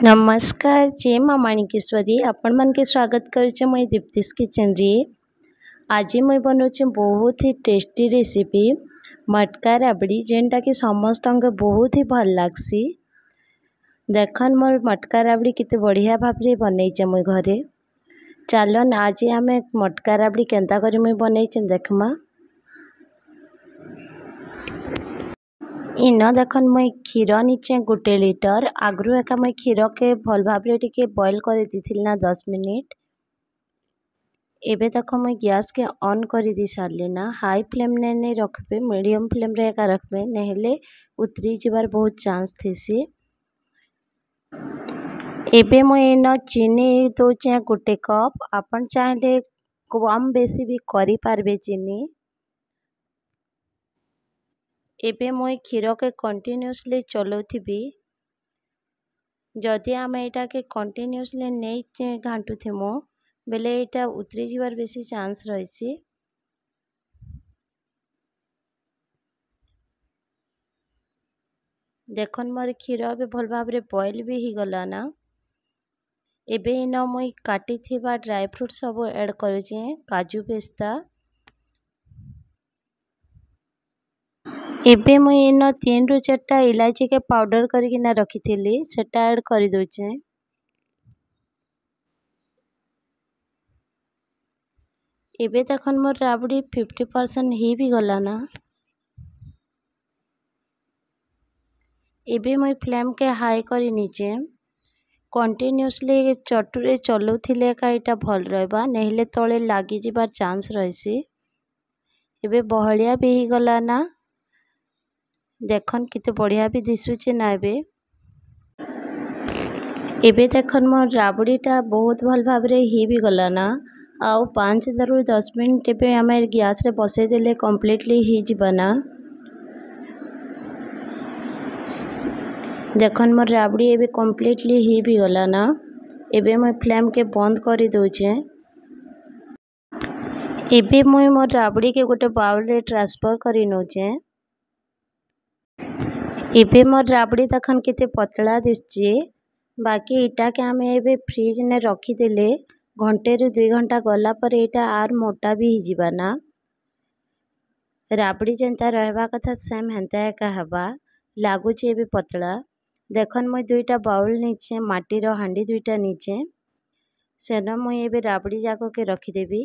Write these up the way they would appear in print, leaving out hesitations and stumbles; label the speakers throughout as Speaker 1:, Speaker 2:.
Speaker 1: ନମସ୍କାର, ଜୟ ମା ମାଣିକେଶ୍ୱରୀ। ଆପଣମାନକେ ସ୍ୱାଗତ କରୁଛେ ମୁଇଁ ଦୀପ୍ତିସ୍ କିଚେନ୍ରେ। ଆଜି ମୁଇଁ ବନଉଛେ ବହୁତ ହି ଟେଷ୍ଟି ରେସିପି ମଟକା ରାବଡ଼ି, ଯେନ୍ଟାକି ସମସ୍ତଙ୍କୁ ବହୁତ ହି ଭଲ୍ ଲାଗ୍ସି। ଦେଖନ୍, ମୋର୍ ମଟକା ରାବଡ଼ି କେତେ ବଢ଼ିଆ ଭାବରେ ବନେଇଛେ ମୁଇଁ ଘରେ। ଚାଲନ୍, ଆଜି ଆମେ ମଟକା ରାବଡ଼ି କେନ୍ତା କରି ମୁଇଁ ବନେଇଛେ ଦେଖ୍ମା। ଇନ ଦେଖନ୍, ମୁଇଁ କ୍ଷୀର ନିଚେ 1 ଲିଟର। ଆଗରୁ ଏକା ମୁଇଁ କ୍ଷୀରକେ ଭଲ୍ ଭାବରେ ଟିକେ ବଏଲ୍ କରି ଦେଇଥିଲି ନା 10 ମିନିଟ୍। ଏବେ ଦେଖ, ମୁଇଁ ଗ୍ୟାସ୍କେ ଅନ୍ କରିଦେଇ ସାରିଲି ନା। ହାଇ ଫ୍ଲେମ୍ରେ ନେଇ ରଖ୍ବେ, ମିଡ଼ିୟମ୍ ଫ୍ଲେମ୍ରେ ଏକା ରଖ୍ବେ, ନେହେଲେ ଉତରି ଯିବାର ବହୁତ ଚାନ୍ସ ଥିସି। ଏବେ ମୁଇଁ ଇନ ଚିନି ଦଉଛେଁ 1 କପ୍। ଆପଣ ଚାହିଁଲେ କମ୍ ବେଶୀ ବି କରିପାରବେ ଚିନି। ଏବେ ମୁଇଁ କ୍ଷୀରକେ କଣ୍ଟିନ୍ୟୁଅସଲି ଚଲଉଥିବି। ଯଦି ଆମେ ଏଇଟାକେ କଣ୍ଟିନ୍ୟୁଅସଲି ନେଇ ଘାଣ୍ଟୁଥିମୁ ବେଲେ ଏଇଟା ଉତରି ଯିବାର ବେଶୀ ଚାନ୍ସ ରହିସି। ଦେଖନ୍, ମୋର କ୍ଷୀର ଏବେ ଭଲ ଭାବରେ ବଏଲ୍ ବି ହେଇଗଲା ନା। ଏବେ ଇନ ମୁଇଁ କାଟିଥିବା ଡ୍ରାଏ ଫ୍ରୁଟ୍ ସବୁ ଆଡ଼୍ କରୁଛେଁ, କାଜୁ, ପିସ୍ତା। ଏବେ ମୁଇଁ ଇନ 3ରୁ 4ଟା ଇଲାଇଚିକେ ପାଉଡ଼ର କରିକିନା ରଖିଥିଲି, ସେଟା ଆଡ଼୍ କରିଦଉଛେଁ। ଏବେ ଦେଖନ୍, ମୋର୍ ରାବଡ଼ି 50% ହେଇ ବି ଗଲା ନା। ଏବେ ମୁଇଁ ଫ୍ଲେମ୍କେ ହାଇ କରି ନେଇଛେଁ। କଣ୍ଟିନ୍ୟୁଅସଲି ଚଟୁରେ ଚଲଉଥିଲେ ଏକା ଏଇଟା ଭଲ୍ ରହିବା, ନେହେଲେ ତଳେ ଲାଗିଯିବାର ଚାନ୍ସ ରହିସି। ଏବେ ବହଳିଆ ବି ହେଇଗଲା ନା। ଦେଖନ୍, କେତେ ବଢ଼ିଆ ବି ଦିଶୁଛେ ନା ଏବେ। ଏବେ ଦେଖନ୍, ମୋର୍ ରାବଡ଼ିଟା ବହୁତ ଭଲ ଭାବରେ ହେଇ ବି ଗଲା ନା। ଆଉ 5ରୁ 10 ମିନିଟ୍ ଏବେ ଆମେ ଗ୍ୟାସ୍ରେ ବସେଇଦେଲେ କମ୍ପ୍ଲିଟଲି ହେଇଯିବା ନା। ଦେଖନ୍, ମୋର୍ ରାବଡ଼ି ଏବେ କମ୍ପ୍ଲିଟଲି ହେଇ ବି ଗଲା ନା। ଏବେ ମୁଇଁ ଫ୍ଲେମ୍କେ ବନ୍ଦ କରି ଦଉଛେଁ। ଏବେ ମୁଇଁ ମୋର୍ ରାବଡ଼ିକେ ଗୋଟେ ବାଉଲ୍ରେ ଟ୍ରାନ୍ସଫର୍ କରି ନଉଛେଁ। ଏବେ ମୋର୍ ରାବଡ଼ି ଦେଖନ୍, କେତେ ପତଳା ଦିଶୁଛେ। ବାକି ଇଟାକେ ଆମେ ଏବେ ଫ୍ରିଜ୍ନେ ରଖିଦେଲେ ଘଣ୍ଟେରୁ 2 ଘଣ୍ଟା ଗଲା ପରେ ଏଇଟା ଆର୍ ମୋଟା ବି ହେଇଯିବା ନା। ରାବଡ଼ି ଯେନ୍ତା ରହିବା କଥା, ସେମ୍ ହେନ୍ତା ଏକା ହେବା। ଲାଗୁଛେ ଏବେ ପତଳା। ଦେଖନ୍, ମୁଇଁ 2ଟା ବାଉଲ୍ ନେଇଛେଁ, ମାଟିର ହାଣ୍ଡି 2ଟା ନେଇଛେଁ। ସେନ ମୁଇଁ ଏବେ ରାବଡ଼ି ଯାକକେ ରଖିଦେବି।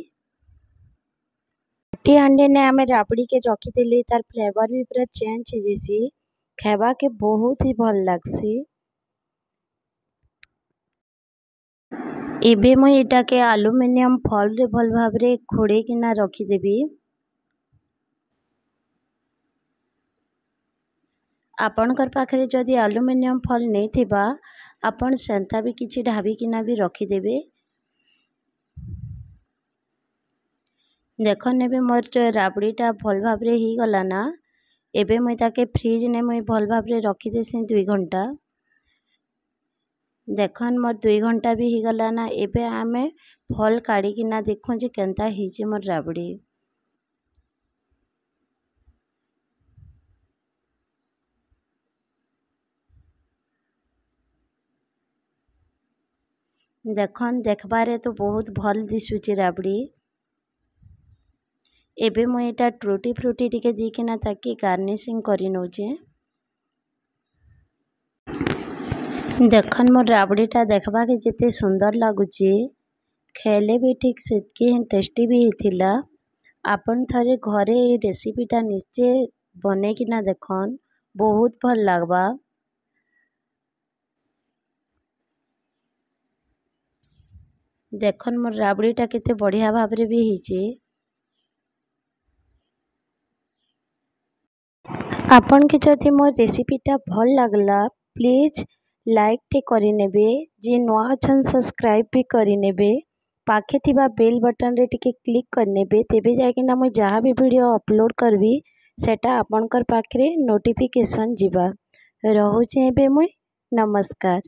Speaker 1: ମାଟି ହାଣ୍ଡିନେ ଆମେ ରାବଡ଼ିକେ ରଖିଦେଲେ ତାର୍ ଫ୍ଲେଭର୍ ବି ପୁରା ଚେଞ୍ଜ ହେଇଯାଇସି, ଖାଇବାକେ ବହୁତ ହି ଭଲ୍ ଲାଗ୍ସି। ଏବେ ମୁଇଁ ଏଟାକେ ଆଲୁମିନିୟମ ଫଏଲ୍ରେ ଭଲ୍ ଭାବରେ ଘୋଡ଼େଇକିନା ରଖିଦେବି। ଆପଣଙ୍କର ପାଖରେ ଯଦି ଆଲୁମିନିୟମ ଫଏଲ୍ ନେଇଥିବା, ଆପଣ ସେନ୍ତା ବି କିଛି ଢାବିକିନା ବି ରଖିଦେବେ। ଦେଖନ୍, ଏବେ ମୋର୍ ରାବଡ଼ିଟା ଭଲ୍ ଭାବରେ ହେଇଗଲା ନା। ଏବେ ମୁଇଁ ତାକେ ଫ୍ରିଜ୍ନେ ମୁଇଁ ଭଲ୍ ଭାବରେ ରଖିଦେସି 2 ଘଣ୍ଟା। ଦେଖନ୍, ମୋର୍ 2 ଘଣ୍ଟା ବି ହେଇଗଲା ନା। ଏବେ ଆମେ ଫଲ୍ କାଢ଼ିକିନା ଦେଖୁଁ ଯେ କେନ୍ତା ହେଇଛେ ମୋର୍ ରାବଡ଼ି। ଦେଖନ୍, ଦେଖବାରେ ତ ବହୁତ ଭଲ୍ ଦିଶୁଛେ ରାବଡ଼ି। ଏବେ ମୁଇଁ ଏଇଟା ଟ୍ରୁଟି ଫ୍ରୁଟି ଟିକେ ଦେଇକିନା ତାକେ ଗାର୍ନିସିଂ କରି ନଉଛେଁ। ଦେଖନ୍, ମୋର୍ ରାବଡ଼ିଟା ଦେଖବାକେ ଯେତେ ସୁନ୍ଦର ଲାଗୁଛେ, ଖାଇଲେ ବି ଠିକ୍ ସେତ୍କି ହିଁ ଟେଷ୍ଟି ବି ହେଇଥିଲା। ଆପଣ ଥରେ ଘରେ ଏଇ ରେସିପିଟା ନିଶ୍ଚୟ ବନେଇକିନା ଦେଖନ୍, ବହୁତ ଭଲ୍ ଲାଗ୍ବା। ଦେଖନ୍, ମୋର୍ ରାବଡ଼ିଟା କେତେ ବଢ଼ିଆ ଭାବରେ ବି ହେଇଛେ। ଆପଣକେ ଯଦି ମୋର୍ ରେସିପିଟା ଭଲ୍ ଲାଗଲା, ପ୍ଲିଜ୍ ଲାଇକ୍ଟେ କରିନେବେ। ଯିଏ ନୂଆ ଅଛନ୍, ସବସ୍କ୍ରାଇବ୍ ବି କରିନେବେ। ପାଖେ ଥିବା ବେଲ୍ ବଟନ୍ରେ ଟିକେ କ୍ଲିକ୍ କରିନେବେ, ତେବେ ଯାଇକିନା ମୁଇଁ ଯାହା ବି ଭିଡ଼ିଓ ଅପଲୋଡ଼ କରିବି, ସେଟା ଆପଣଙ୍କର ପାଖରେ ନୋଟିଫିକେସନ୍ ଯିବା। ରହୁଛେଁ ଏବେ ମୁଇଁ, ନମସ୍କାର।